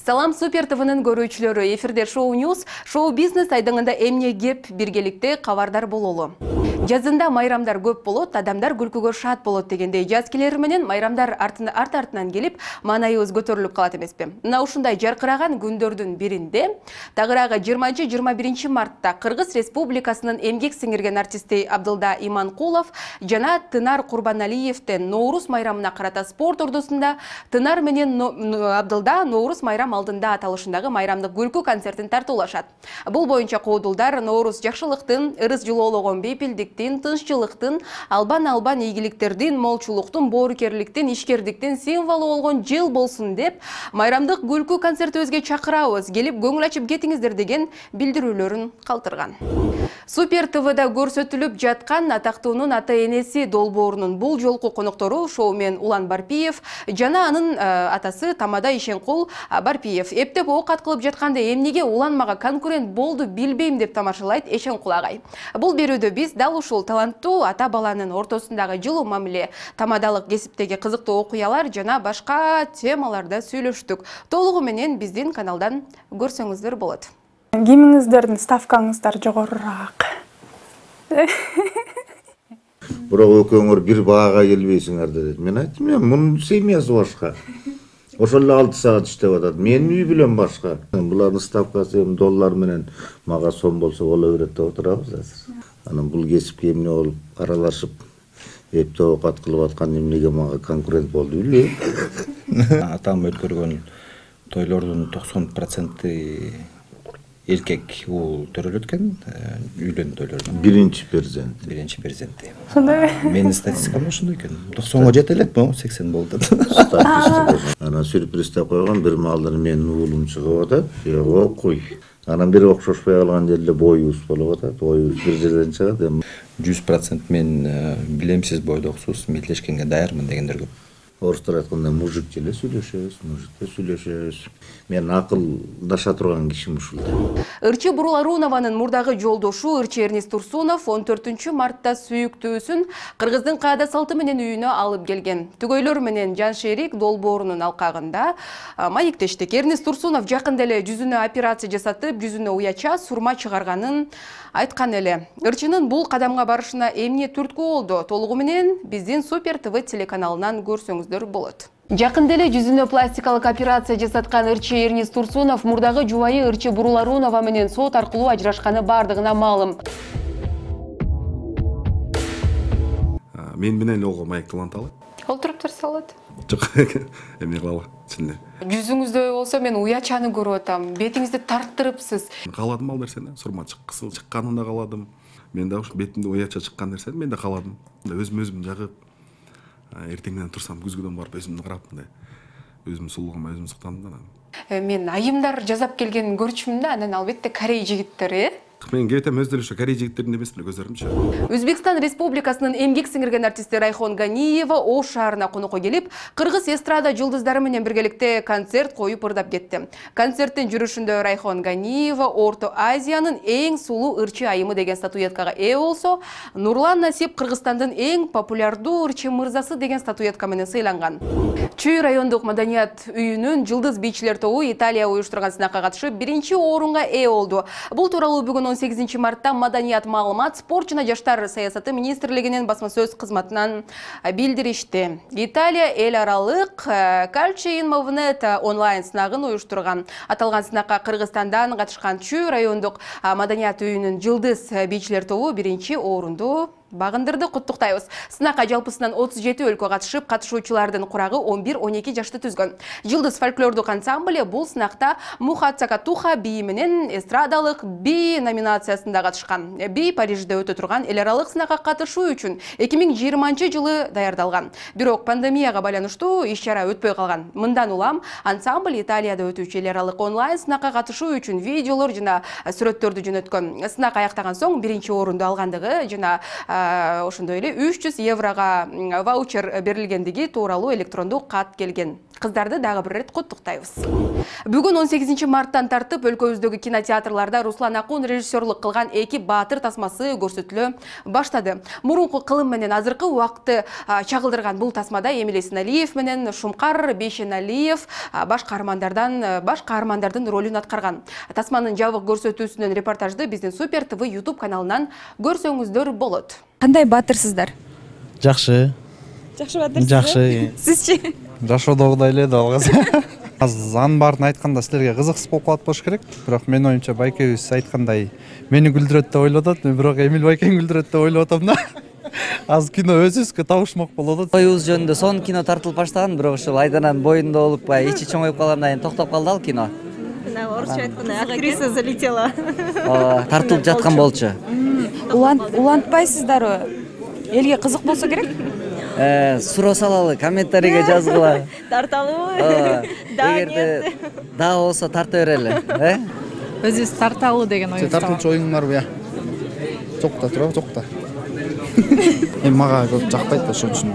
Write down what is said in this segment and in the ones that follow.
Салам Супер ТВнын көрүүчүлөрү, эфирде Шоу Ньюс, шоу бизнес айдыңында эмне кеп биргеликте кабардар бололу. Жазында майрамдар көп болот, адамдар күлкүгө шат болот дегендей жазкелер менен майрамдар арт-артынан келип, маанайыбыз көтөрүлүп калат эмеспи? Мына ушундай жаркыраган күндөрдүн биринде, тагыраагы 20-21 мартта Кыргыз Республикасынын эмгек сиңирген артисти Абдылда Иманкулов жана Тынар Курбаналиевден Ноорус майрамына карата спорт ордусунда Тынар менен Абдылда Ноорус майрам алдында аталышындагы майрамдык күлкү концертин тартуулашат. Бул боюнча коодулдар Ноорус жакшылыктын, ырыс жылоологон бейпилдиктин, тынччылыктын, албан ийгиликтердин, молчулуктун, боорукерликтин, ишкердиктин символу болгон жыл болсун деп, майрамдык күлкү концертибизге чакырабыз, келип көңүл ачып кетиңиздер деген билдирүүлөрүн калтырган. Супер ТВда көрсөтүлүп жаткан атактуунун ата-энеси долбоорунун бул жолку коноктору шоумен Улан Барпиев жана анын атасы Тамада Ишенкул Барпиев. Эптеп ок аткылып жатканда эмнеге Улан мага конкурент болду билбейм деп тамашалайт Ишенкул агай. Бул берүүдө биз дал ушул таланттуу ата-баланын ортосундагы жылуу мамиле, тамадалык кесиптеги кызыктуу окуялар жана башка темаларда сүйлөштүк. Толугу менен биздин каналдан көрсөңүздөр болот. Кимиңиздердин ставкаңыздар жогорураак? Бирок экөөңөр бир баага келбейсиңер деди. Мен айттым, мунун семьясы башка. Ошол эле 6 саат иштеп атат. Менин үй билем башка. Булардын ставкасы доллар менен мага сом болсо боло берет деп отурабыз азыр. Анан бул кесипке эмне болуп аралашып, эптеп окат кылып аткан эмнеге мага конкурент болду билбейм. Атам өткөргөн тойлордун 90% эркек бул төрөлөт экен, үйлөн тойлордун. Биринчи перзент. Сондай. Менин статистикам ошондой экен. 90га жете элек, 80 болду. Статистика. Анан сюрприз деп койгон бир маалдар менин уулум чыгып атат. Окуй. Анан бир окшошпой калган жерде боюбуз болуп атат. Боюбуз бир жерден чыгат. 100% мен билемсиз бойдоксуз мелдешкенге даярмын дегендер көп. Орустар айткандай мужик эле сүйлөшөбүз. Мен акылдаша турган кишим ушул. Ырчы Буруларунованын мурдагы жолдошу Ырчы Эрнис Турсунов 14 мартта сүйүктүүсүн Кыргыздын каада салты менен үйүнө алып келген. Түгөйлөр менен Жаншерик долбоорунун алкагында маектештик. Эрнис Турсунов жакында эле жүзүнө операция жасатып, жүзүнө уяча сурма чыгарганын айткан эле. Ырчынын бул кадамга барышына эмне түрткү болду? Толугу менен биздин Супер ТВ телеканалынан көрсөңүздөр болот. Жакында эле жүзүнө пластикалык операция жасаткан Ырчы Эрнис Турсунов мурдагы жубайы Ырчы Буруларунова менен сот аркылуу ажырашканы бардыгына маалым. Мен менен ого маекталанталы. Олтуруп турса болот. Жок, эмне кылалы, чын эле. Жүзүңүздө болсо мен уячаны көрүп атам. Бетиңизди тарттырыпсыз. Кааладым ал нерсени, сурма кысыл чыкканын да кааладым. Мен да ушу бетимде уяча чыккан нерсени мен да кааладым. Өзүм жагып, эртеңден турсам күзгүдөн барып өзүмдү карап мындай өзүм сулуугума өзүм суктандым да. Мен айымдар жазап келгенин көрчүмүн да, анан албетте корей жигиттери. Мен кетем өздөрү ошо корей жигиттерин эмес беле көзөрүмчү. Өзбекстан Республикасынын эмгек сиңирген артисти Райхон Ганиева Ош шаарына конокко келип, кыргыз эстрада жылдыздары менен биргеликте концерт коюп ырдап кетти. Концерттин жүрүшүндө Райхон Ганиева Орто Азиянын эң сулуу ырчы айымы деген статуэткага ээ болсо, Нурлан Насип Кыргызстандын эң популярдуу ырчы мырзасы деген статуэтка менен сыйланган. Чүй райондук маданият үйүнүн жылдыз бийчилер тобу Италия уюштурган сынакка катышып, 1-орунга ээ болду. Бул тууралуу бүгүн 18 мартта Маданият маалымат, спорт жана жаштар саясаты министрлигинин басма сөз кызматынан билдиришти. Италия эл аралык Calcio in Movnet онлайн сынагын уюштурган. Аталган сынакка Кыргызстандан катышкан Чүй райондук маданият үйүнүн жылдыз бийчилер тобу 1-орунду багындырды. Куттуктайбыз. Сынакка жалпысынан 37 өлкө катышып, катышуучулардын курагы 11-12 жашты түзгөн. Жылдыз фольклордук ансамбль бул сынакта Мухацакатуха бии менен эстрадалык би номинациясында катышкан. Би Парижде өтө турган эл аралык сынакка катышуу үчүн 2020 даярдалган. Бирок пандемияга байланыштуу иш-чара өтпөй калган. Мындан улам ансамбль Италияда өтүүчү эл аралык онлайн сынакка катышуу үчүн видеолор жана сүрөттөрдү жөнөткөн. Сынак аяктаган соң 1-орунду алгандыгы жана ошондой эле 300 еврого ваучер берилгендиги тууралуу электрондуу кат келген. Кыздарды дагы бир рет куттуктайбыз. Бүгүн 18 марттан тартып өлкөбүздөгү кинотеатрларда Руслан Акун режиссерлук кылган Эки баатыр тасмасы көрсөтүлө баштады. Мурунку кылым менен азыркы убакытты чагылдырган бул тасмада Эмиль Эсеналиев менен Шумкар Бейшеналиев баш каармандардын ролун аткарган. Тасманын жабык көрсөтүүсүнөн репортажды биздин Супер ТВ YouTube каналынан көрсөңүздөр болот. Кандай баатырсыздар? Жакшы. Жакшы баатырсыз? Жакшы. Сизчи? Жашоодогудай эле далгыз. Анын баарын айтканда силерге кызыксыз болуп калат болуш керек. Бирок менин оюмча байкебиз айткандай мени күлдүрөт деп ойлоп атат, бирок Эмиль байкең күлдүрөт деп ойлоп атам да. Азыр кино өзүбүзгө табышмак болуп атат. Оюбуз жөнүндө сонун кино тартылып баштаган, бирок ушул Айдананын боюнда болуп, баягы ичи чоңоюп калгандан кийин токтоп калды ал кино. Орусча айтканда актриса залетела. Тартылып жаткан болчу. Улантпайсыздарбы? Элге кызык болсо керек? Суроо салалы, комментарийге жазгыла. Тарталыбы? Эгерде дагы болсо тарта берели, Өзүбүз тарталы деген ой. Тартылчу оюң барбы я? Жокта тура, жокта. Мага көп жакпайт да ошон үчүн.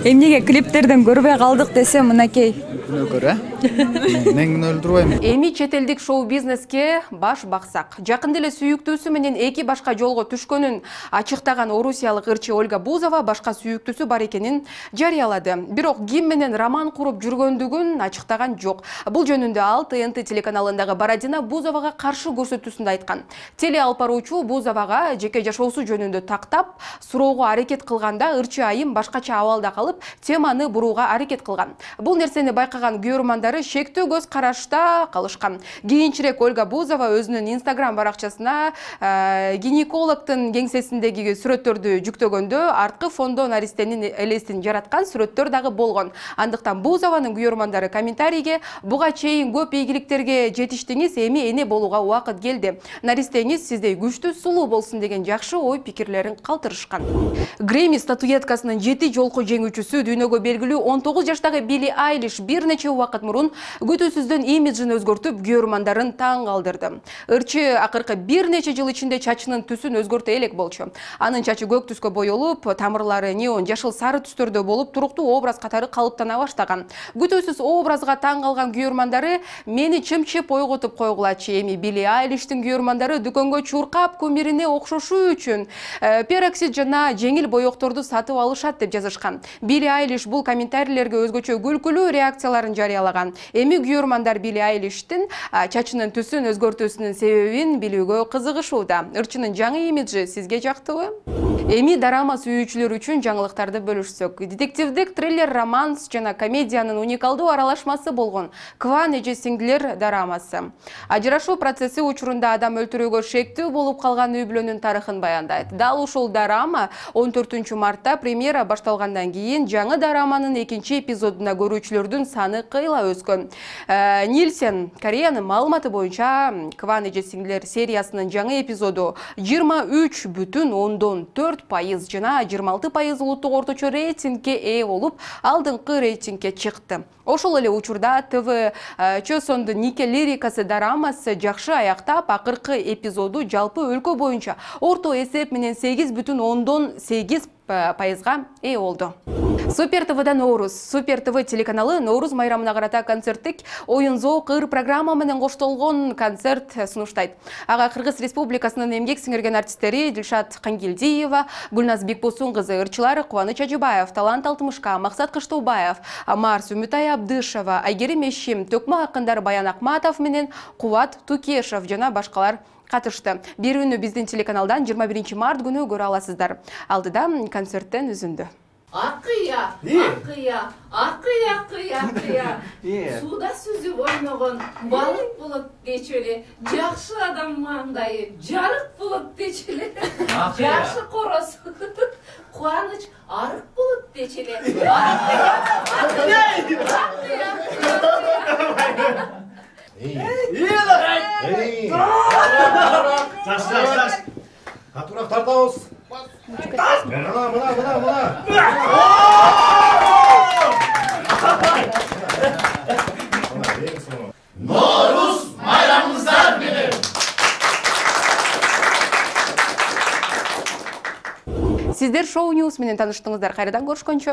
Эмнеге клиптерден көрбөй калдык десе мынакей. Күнөөкөр, Мен өлтүрбөйм. Эми чет элдик шоу-бизнеске баш баксак. Жакында эле сүйүктүүсү менен эки башка жолго түшкөнүн ачыктаган орусиялык ырчы Ольга Бузова башка сүйүктүүсү бар экенин жарыялады. Бирок ким менен роман куруп жүргөндүгүн ачыктаган жок. Бул жөнүндө ал ТНТ телеканалындагы Бородина Бузовага каршы көрсөтүүсүндө айткан. Теле алып баруучу Бузовага жеке жашоосу жөнүндө тактап, суроого аракет кылганда ырчы айым башкача абалда калып, теманы бурууга аракет кылган. Бул нерсени байкаган көрөрмандары шектүү көз карашта калышкан. Кийинчерээк Ольга Бузова өзүнүн Instagram баракчасына гинекологдун кеңсесиндеги сүрөттөрдү жүктөгөндө арткы фондо наристенин элесин жараткан сүрөттөр дагы болгон. Андыктан Бузованын көрөрмандары комментарийге буга чейин көп ийгиликтерге жетиштиңиз, эми эне болууга убакыт келди. Наристеңиз сиздей күчтүү, сулуу болсун деген жакшы ой пикирлерин калтырышкан. Грэмми статуэткасынын 7 жолку жеңүүчүсү дүйнөгө белгилүү 19 жаштагы Билли Айлиш бир нече убакыт мурун күтүүсүздөн имиджин өзгөртүп, көрөрмандарын таң калтырды. Ырчы акыркы бир нече жыл ичинде чачынын түсүн өзгөртө элек болчу. Анын чачы көк түскө боелуп, тамырлары неон жашыл сары түстөрдө болуп, туруктуу образ катары калыптана баштаган. Күтүүсүз образга таң калган көрөрмандары мени чымчып ойготуп койгулачы. Эми Билли Айлиштин көрөрмандары дүкөнгө чуркап кумирине окшошуу үчүн пероксид жана жеңил боекторду сатып алышат деп жазышкан. Билли Айлиш бул комментарийлерге өзгөчө күлкүлүү реакцияларын жарыялаган. Эми көрөрмандар Билли Айлиштин чачынын түсүн өзгөртүүсүнүн себебин билүүгө кызыгышууда. Ырчынын жаңы имиджи сизге жактыбы? Эми драма сүйүүчүлөр үчүн жаңылыктарды бөлүшсөк. Детективдик, триллер, романс жана комедиянын уникалдуу аралашмасы болгон Кван эже сиңдилер драмасы. Ажырашуу процесси учурунда адам өлтүрүүгө шектүү болуп калган үй бүлөнүн тарыхын баяндайт. Дал ушул драма 14 мартта премьера башталгандан кийин жаңы драманын экинчи эпизодуна көрүүчүлөрдүн саны кыйла өскөн. Нильсен Кореянын маалыматы боюнча Кван эже сиңдилер сериясынын жаңы эпизоду 23,4% жана 26% улуттук орточо рейтингге ээ болуп, алдыңкы рейтингге чыкты. Ошол эле учурда ТВ Чосондун Нике лирикасы драмасы жакшы аяктап, акыркы эпизоду жалпы өлкө боюнча орто эсеп менен 8,8% ээ болду. Супер ТВда Ноурус. Супер ТВ телеканалы Ноурус майрамына карата концерттик оюн зоок ыр программа менен коштолгон концерт сунуштайт. Ага Кыргыз Республикасынын эмгек сиңирген артисттери Дилшат Кангелдиева, Гүлназ Бекбосун кызы, ырчылары Кубаныч Ажыбаев, Талант Алтымышка, Максат Кыштоубаев, Марс Үмүтай Абдышева, Айгерим Эшим, Төкмө акындар Баян Акматов менен Кубат Тукешев жана башкалар катышты. Берүүнү биздин телеканалдан 21 март күнү көрө аласыздар. Алдыда концерттен үзүндү. Акыя, суда сүзүп ойногон балык болот дечү эле. Жакшы адам маңдайы жарык болот дечү эле. Жакшы короз кубаныч арык болот дечү эле. Жаш. Катуураак тартабыз. Ноорус майрамыңыздар менен. Сиздер Шоу Ньюс менен таныштыңыздар. Кайрадан көрүшкөнчө.